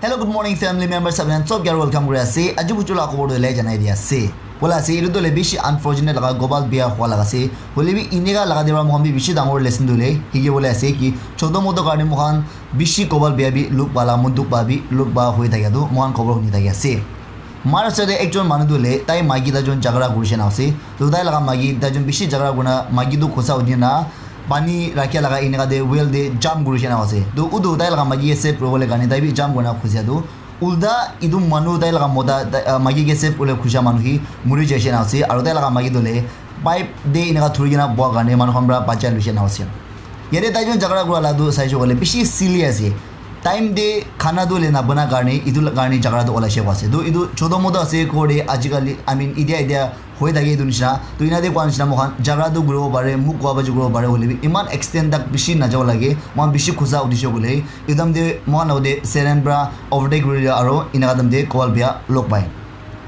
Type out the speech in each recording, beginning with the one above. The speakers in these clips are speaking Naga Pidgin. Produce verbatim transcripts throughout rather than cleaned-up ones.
Hello, good morning, family members. Apni khan sob ke welcome kuri ase. Aji buchu la khobor tu le janai di ase. Bola ase, itu tu le bishi unfortunate laga gopal biya hua laga ase. Hoile bi inika laga de pra mohan bi bishi dangor lesson tu le hiki bole ase ki choto moto karne mohan bishi gopal biya bi luk pala mon duk pa bi luk pa hoi thakya tu mohan khobor huni thakya ase. Maharashtra te ekjon manu tu le tai maiki ta jon jhagara kuri shena ase. Tu tai laga maiki ta jon bishi jhagara kurina maiki tu khosa uthi na pani rakhia laga enika te well te jump kuri shena ase. Tu utu tai laga maiki ke save kuribole karne tai bi jump kurina khusia tu ulta itu manu tai laga mota tai, ah, maiki ke save kuribole khusia manu hi muri jai shena ase. Aru tai laga maiki tu le pipe te enika thuri kena boa karne manu khan pra bachai lui shena ase. Yate tai jon jhagara kura la tu saishe koile bishi silly ase. Time te khana tu le na bana karne itu la karne jhagara tu olai she ase. Tu itu choto moto ase ghor te ajikali, I mean, itia itia hoi thake itu nishina. Tu ina te koa nishina moikhan jhagara tu kuribo pare, muk koa baji kuribo pare hoile bi iman extent tak bishi najabo lage. Moikhan bishi khusa udisho koile ekdam te moikhan logte seren pra overtake kuri dia aro inaka time te gopal biya log pai.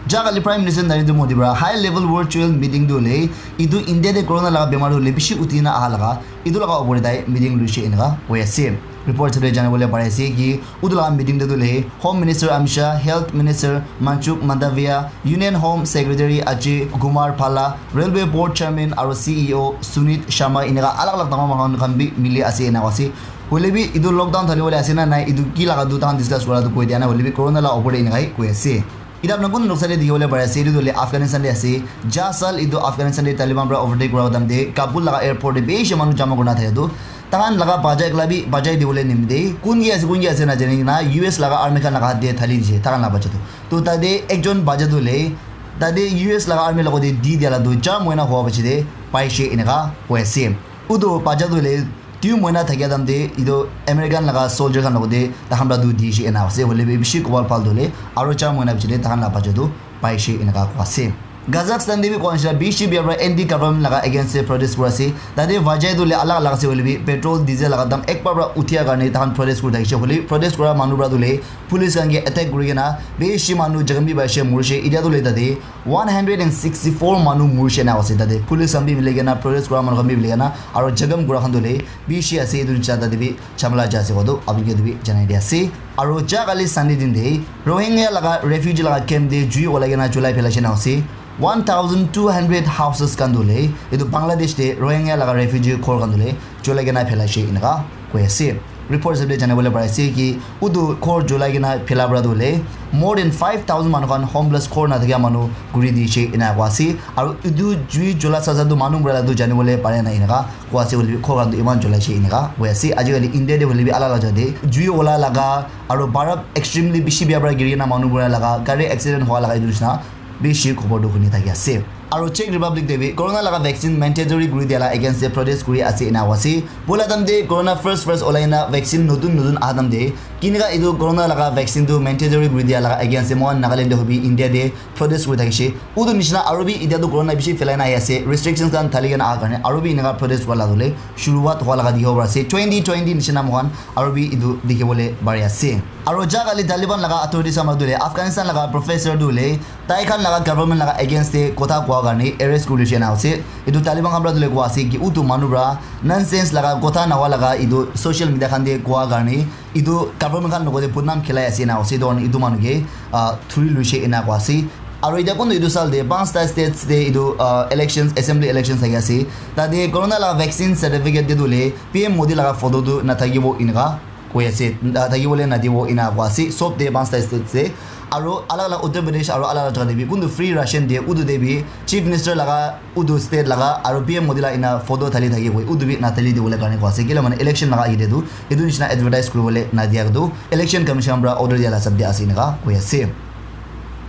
Ja kali Prime Minister Narendra Modi pra high level virtual meeting tu hoile itu India te corona laga bemar tu hoile bishi uthi na aha laga itu laga opor te tai meeting luishe enaka hoi ase. Report sabole jana bole pare ase ki utu laga meeting te tu hoile Home Minister Amit Shah, Health Minister Mansukh Mandaviya, Union Home Secretary Ajay Kumar Bhalla, Railway Board Chairman aro C E O Sunit Sharma enaka alag alag dangor manu khan bi mili ase enaka ase. Hoile bi itu lockdown thali bole ase na nai itu ki laga tu tahan discuss kura tu koi dia na hoile bi corona la opor te enaka hi koi ase. Ita apna kun noksa te dikhi bole pare ase itu tu hoile Afghanistan te ase. Ja sal itu Afghanistan te Taliban pra overtake kura time te Kabul laga airport te bishi manu jama kurina thake tu tahan laga bacha ekla bi bachai dibole nimite kun ki ase kun ki ase na jani na U S laga army khan laga hath te thali dise tahan laga bacha tu. To tate ekjon bacha tu hoile tate U S laga army logote di dia la tu char moina hua bachi te paishe eneka hoi ase. Utu bacha tu hoile tui moina thakia time te itu American laga soldier khan logote takhan pra tu dishe ena ase hoile bi bishi gopal bhal tu hoile aro char moina bichi te takhan la bacha tu paishe eneka koi ase. Kazakhstan te bi koa nishina bishi biya pra anti government laga against te protest kuri ase. Tate vajai tu hoile alag alag ase hoile bi petrol diesel laga dam ekbar pra uthia karne takhan protest kuri thakishe hoile protest kura manu pra tu hoile police khan ke attack kuri kena bishi manu jakham bi paishe murishe. Itia tu hoile tate one hundred and sixty four manu murishe na ase tate police khan bi mili kena protest kura manu khan bi mili kena aro jakham kura khan tu hoile bishi ase. Itu nisina tate bi chamala ja ase koa tu apni ke tu bi janai di ase. Aro ja kali Sunday din te Rohingya laga refugee laga camp te jui olai kena julai phelaishe na ase. One thousand two hundred houses khan tu hoile itu Bangladesh te Rohingya laga refugee ghor khan tu hoile julai kena phelaishe eneka koi ase. Report sabole jana bole pare ase ki utu ghor julai kena phela pra tu hoile more than five thousand manu khan homeless ghor na thakia manu kuri dishe ena koi ase. Aro itu jui jula sa sa tu manu mura la tu jani bole pare na eneka koi ase hoile bi ghor khan tu iman julai she eneka koi ase. Ajikali India te hoile bi alag alag jaga te jui ola laga aro barap extremely bishi biya pra giri kena manu mura laga gari accident hua laga itu nisina bishi khobor tu huni thaki ase. Aro Czech Republic te bi corona laga vaccine mandatory kuri dia la against te protest kuri ase ena koi ase. Bola time te corona first first olai na vaccine notun notun aha time te kinika itu corona laga vaccine tu mandatory kuri dia laga against te mohan Nagaland te hobi India te protest kuri thakishe. Utu nisina aro bi itia tu corona bishi phelai na ahi ase. Restrictions khan thali kena aha karne aro bi eneka protest kura la tu hoile shuruwat hua laga dikhibo pari ase. Twenty twenty nisina mohan aro bi itu dikhi bole pari ase. Aro ja kali Taliban laga authorities khan pra tu hoile Afghanistan laga professor tu hoile tai khan laga government laga against te kotha kua karne arrest kuri lishe na ase. Itu Taliban khan pra tu hoile koi ase ki utu manu pra nonsense laga kotha nahua laga itu social media khan te kua karne itu government khan logote budnam khilai ase na ase. Itu karne itu manu ke, ah, thuri luishe ena koi ase. Aro itia kun itu sal te panchta states te itu, ah, elections, assembly elections thaki ase. Tate corona laga vaccine certificate te tu hoile P M Modi laga photo tu nathakibo eneka koi ase. Nathakibo le nadibo ena koi ase. Sob te panchta states te aro alag alag Uttar Pradesh aro alag alag jaga te bi kuntu free ration diye utu te bi chief minister laga utu state laga aro P M Modi la ena photo thali thaki koi utu bi nathali dibole karne koi ase. Kila mane election laga ahi te tu etu nisina advertise kuribole nadia tu election commission pra order dia la hisab te ase eneka koi ase.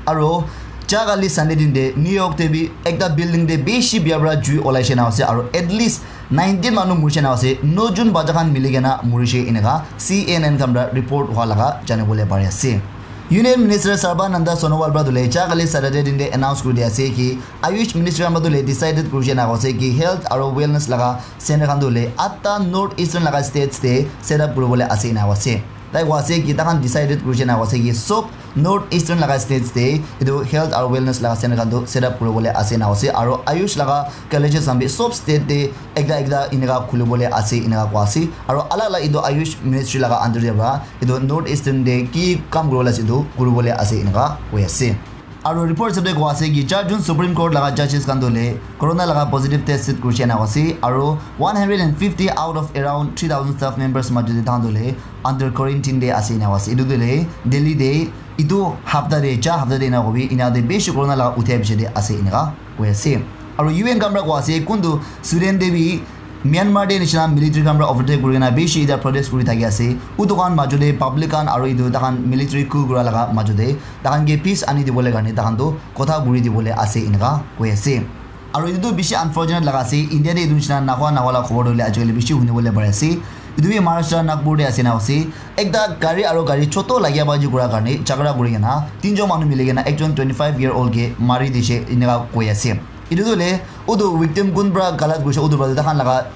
Aro ja kali Sunday din te New York te bi ekta building te bishi biya pra jui olai she na ase aro at least nineteen manu murishe na ase. Nojun bacha khan mili kena murishe eneka C N N khan pra report hua laga jani bole pari ase. Union Minister Sarbananda Sonowal pra tu hoile ja kali Saturday din te announce kuri dia ase ki Ayush Ministry khan pra tu hoile decided kurishe na ase ki health aro wellness laga center khan tu hoile atta North Eastern laga states te set up kuribole ase ena ase. Tai koa ase ki takhan decided kurishe na koa ase ki sob North Eastern laga states te etu health aru wellness laga center khan tu set up kuribole ase na ase, aru Ayush laga colleges khan bi sob state te ekta ekta eneka khulibole ase eneka koa ase, aru alak alak etu Ayush ministry laga under te para etu North Eastern te ki kam kuribole ase etu kuribole ase eneka koi ase. Aru report hisab te koa ase ki char jun Supreme Court laga judges khan tu le corona laga positive test set kurishe na ase, aru one hundred and fifty out of around three thousand staff members majot te tahan tu le under quarantine te ase ena ase. Etu tu le Delhi te etu hapta te cha hapta te ena kobi ena te bishi corona laga uthia bishi te ase eneka koi ase. Aru U N khan para koa ase kuntu Sudan te bi Myanmar te nishina military khan para overtake kuri kena bishi ita protest kuri thaki ase. Utu khan majot te public khan aru etu takhan military coup kura laga majot te takhan ke peace ani dibole karne takhan tu kotha kuri dibole ase eneka koi ase. Aru etu tu bishi unfortunate laga ase. India te etu nishina nahua nahua laga khobor tu hoile ajikali bishi hunibole pari ase. Etu bi Maharashtra Nagpur te ase na ase. Ekta gari aru gari choto lagia baji kura karne jhagara kuri kena tinjon manu mili kena ekjon twenty five year old ke mari dishe eneka koi ase. Etu tu hoile utu victim kun para galat kurishe utu para takhan laga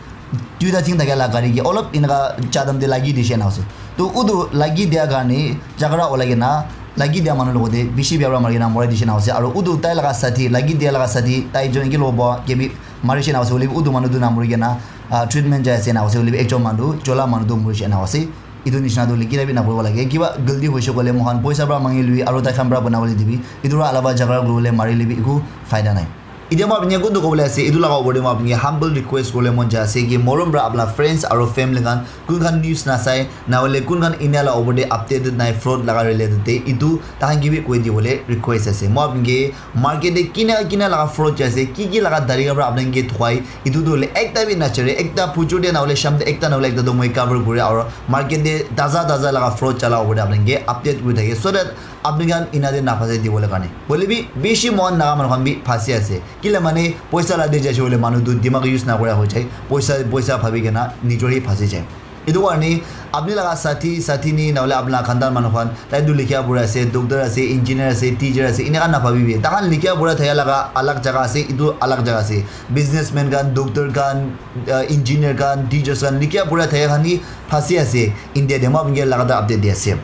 duita thing thakia laga gari ke olop eneka jadam te lagi dishe na ase. To utu lagi dia karne jhagara olai kena lagi dia manu logote bishi bia para mari kena morai dishe na ase. Aru utu tai laga sathi lagi dia laga sathi tai jon ke lobo ke bi mari she na ase. Hoile bi utu manu tu na mori kena ah, treatment jai ase na ase. Hoile bi ekjon manu chola manu tu mori she na ase. Etu nishina tu likhi na bi na koribo lage. Kiba galti hoise koile mohan poisa para mangi lui aru tai khan para bana bole dibi. Etu para alaba jhagara kuribole mari le bi eku faida nai. Etia moi apni ke kuntu kobole ase, etu laga opor te moi apni ke humble request kobole mon jai ase ki morom para apna friends aru family khan kun khan news na sai na hoile kun khan India laga opor te updated nai fraud laga related te etu tahan ke bi koi dibole request ase. Moi apni ke market te kina kina laga fraud jai ase, ki ki laga tarika para apni ke thukai, etu tu hoile ekta bi na chere, ekta phujur te na hoile sham te ekta na hoile ekta tu moi cover kure aru market te taza taza laga fraud chala opor te apni ke update kuri thake so that apni khan ina te na phase dibole karne. Hoile bi bishi mohan naga manu khan bi phasi ase. Kile mane poisa la de jaise hoile manu tu dimag use na kora hoi jai. Poisa, poisa bhabi kena nijor hi phasi jai. Etu karne apni laga sathi, sathi ni na hoile apna khandan manu khan, tai tu likha pura ase, doctor ase, engineer ase, teacher ase, ina khan na bhabi bi. Takhan likha pura thaya laga alag jaga ase, etu alag jaga ase. Businessman khan, doctor khan, uh, engineer khan, teachers khan, likha pura thaya khan hi phasi ase. India de moi apni ke laga update di ase.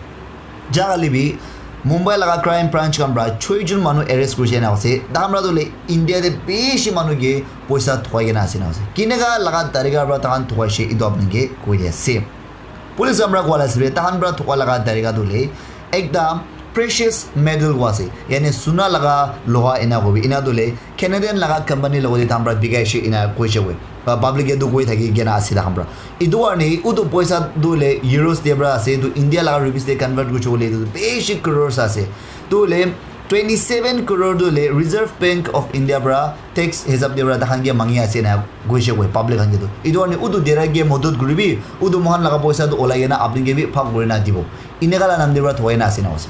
Jagalibi Mumbai laga crime branch khan para choi jon manu arrest kurishe na ase. Takhan para tu le India te bishi manu ke poisa thukai kena ase na ase. Kineka laga tarika para takhan thukaishe etu apni ke koi di ase. Police khan para koa la ase takhan para thuka laga tarika tu le ekta precious metal koa ase. Yani suna laga loha ena kobi. Ena tu le Canadian laga company logote takhan para bikai she ena koishe koi. Ba public etu koi thaki kena ase takhan para. Etu karne utu poisa tu le euros de para ase, etu India laga rupees de convert kurishe koi le etu bishi crores ase. Tu le twenty seven crore tu le Reserve Bank of India para tax hisab de para takhan ke mangi ase na koishe koi public khan ke tu. Etu karne utu dera ke modot kuribi, utu mohan laga poisa tu olai kena apni ke bi phak kuri na dibo. Ineka la nam de para thukai na ase na ase.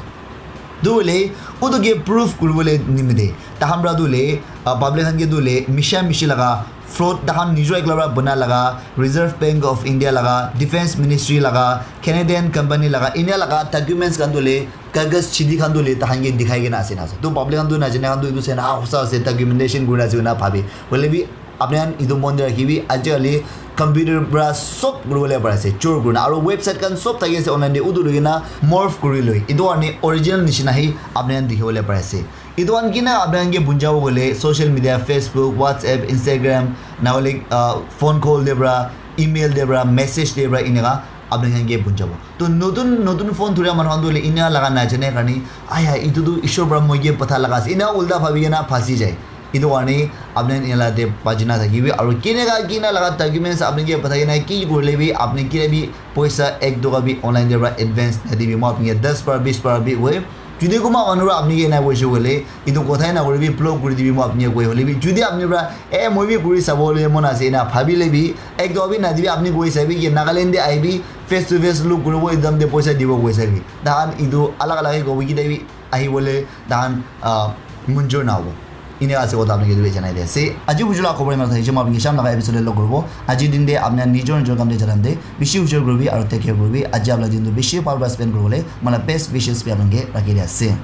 Tu le utu ke proof kuribole nimite takhan para tu le, ah, public khan ke tu le misha mishi laga fraud takhan nijor ekla para bana laga, Reserve Bank of India laga, Defense Ministry laga, Canadian company laga, India laga documents khan tu le, kagas chidi khan tu le takhan ke dikhai kena ase na ase. Tu public khan tu na jane khan tu etu se na hosa ase, documentation kuri ase na bhabi. Hoile bi apni khan etu mon de rakhi bi ajikali computer para sob kuribole pari ase, chor kurina. Aru website khan sob thaki ase online de, utu loi kena morph kuri loi. Etu karne original nishina hi apni khan dikhibole pari ase. Etu khan kina apni khan ke bunjabo koile social media, Facebook, WhatsApp, Instagram, na hoile, ah, phone call de para, email de para, message de para, eneka apni khan ke bunjabo. To notun notun phone thuria manu khan tu hoile ena laga na jane karne, aya, etu tu Ishwar para moi ke patha laga ase. Ena ulta bhabi kena phasi jai. Etu karne apni khan ena la de baji na thakibi. Aru kineka kina laga documents apni ke pathai kena ki kurile bi apni kile bi poisa ek toka bi online de para advance na dibi. Moi apni ke das para bis para bi hoi. Jodi kunba manu para apni ke ena koise koile, etu kothai na kuribi, block kuri dibi, moi apni ke koi hole bi. Jodi apni para, eh, moi bi kuri sabo le mon ase, ena bhabile bi, ek toka bi na dibi, apni koi sabi ki Nagaland de ahibi, face to face look kuribo, ekdam de poisa dibo koi sabi. Tahan etu alag alag hi kobo ki tabi ahibole tahan, ah, munjur na hobo. Ine ase kotha apni ke etu bi janai di ase. Aji bujula khobor ena thakise, moi apni ke sham laga episode de log kuribo. Aji din de apni nijor nijor kam de jalan de, bishi ujor kuribi aru take care kuribi. Aji apna din tu bishi bhal para spend kuribole, moi la best wishes bi apni ke rakhi di ase.